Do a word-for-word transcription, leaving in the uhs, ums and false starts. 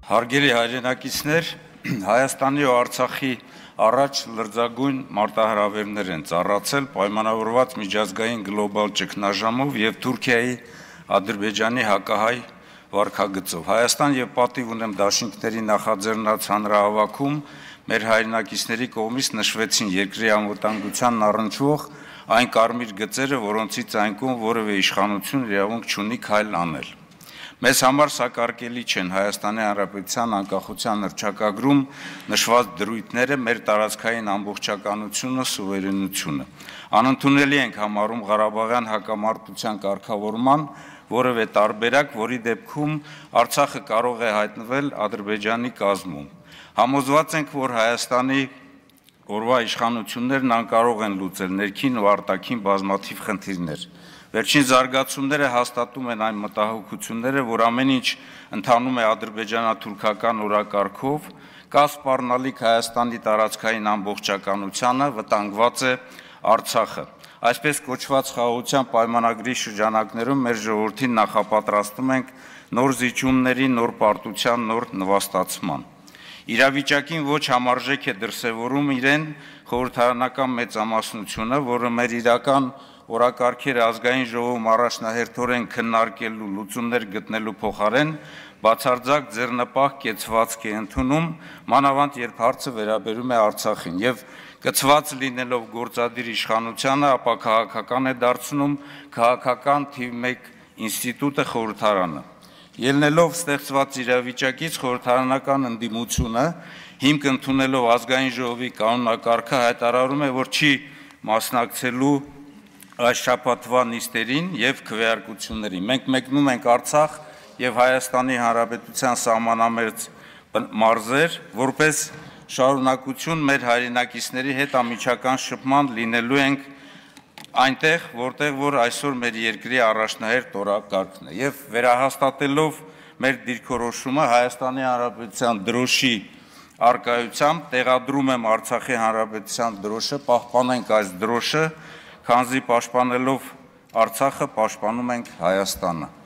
Հարգելի հայրենակիցներ, Հայաստանի ու Արցախի առաջ լրջագույն մարտահրավերներ են ծառացել պայմանավորված միջազգային գլոբալ ճգնաժամով և Թուրքիայի Ադրբեջանի հակահայ վարքագծով։ Հայաստան և պատիվ ունեմ դաշինքների նախաձեռնած հանրահավաքում մեր հայրենակիցների կողմից նշվեցին երկրի անվտանգությանն առնչվող այն կարմիր գծերը, որոնցից այնքուն որևէ իշխանություն իրավունք չունի քայլ անել։ Մեզ համար սակարկելի չեն Հայաստանի Հանրապետության անկախության հռչակագրում նշված դրույթները, մեր տարածքային ամբողջականությունը, սուվերենությունը։ Անընդունելի ենք համարում Ղարաբաղյան հակամարտության կարգավորման որևէ տարբերակ, որի դեպքում Արցախը կարող է հայտնվել Ադրբեջանի կազմում։ Համոզված ենք, որ Հայաստանի օրվա իշխանություններն անկարող են լուծել ներքին ու արտաքին բազմաթիվ խնդիրներ։ Վերջին զարգացումները հաստատում են այն մտահոգությունները, որ ամեն ինչ ընթանում է ադրբեջանա-թուրքական օրակարգով, կա սպառնալիք Հայաստանի տարածքային ամբողջականությանը, վտանգված է Արցախը։ Այսպես կոչված խաղաղության պայմանագրի շրջանակներում մեր ժողովրդին նախապատրաստում ենք նոր զիջումների, նոր պարտության, նոր նվաստացման։ Իրավիճակին ոչ համարժեք է դրսևորում իրեն խորհրդարանական մեծամասնությունը, որը մեր իրական օրակարգերը ազգային ժողովում առաջնահերթորեն քննարկելու, լուծումներ գտնելու փոխարեն բացարձակ ձեռնպահ կեցվածք է ընդունում, մանավանդ երբ հարցը վերաբերում է Արցախին, և կցված լինելով գործադիր իշխանությանը, ապա քաղաքական է դարձնում քաղաքական թիվ մեկ ինստիտուտը խորհրդարանը։ Ելնելով ստեղծված իրավիճակից խորհրդարանական ընդդիմությունը, հիմք ընդունելով ազգային ժողովի կանոնակարգը հայտարարում է, որ չի մասնակցելու այս շաբաթվա նիստերին և քվեարկություններին։ Մենք մեկնում ենք Արցախ և Հայաստանի Հանրապետության սահմանամերձ մարզեր, որպես շարունակություն մեր հայրենակիցների հետ անմիջական շփման լինելու ենք այնտեղ, որտեղ որ այսօր մեր երկրի առաջնահերթ օրակարգն է, և վերահաստատելով մեր դիրքորոշումը Հայաստանի Հանրապետության դրոշի առկայությամբ տեղադրում եմ Արցախի Հանրապետության դրոշը, պահպանենք այս դրոշը, քանզի պաշտպանելով Արցախը պաշտպանում ենք Հայաստանը։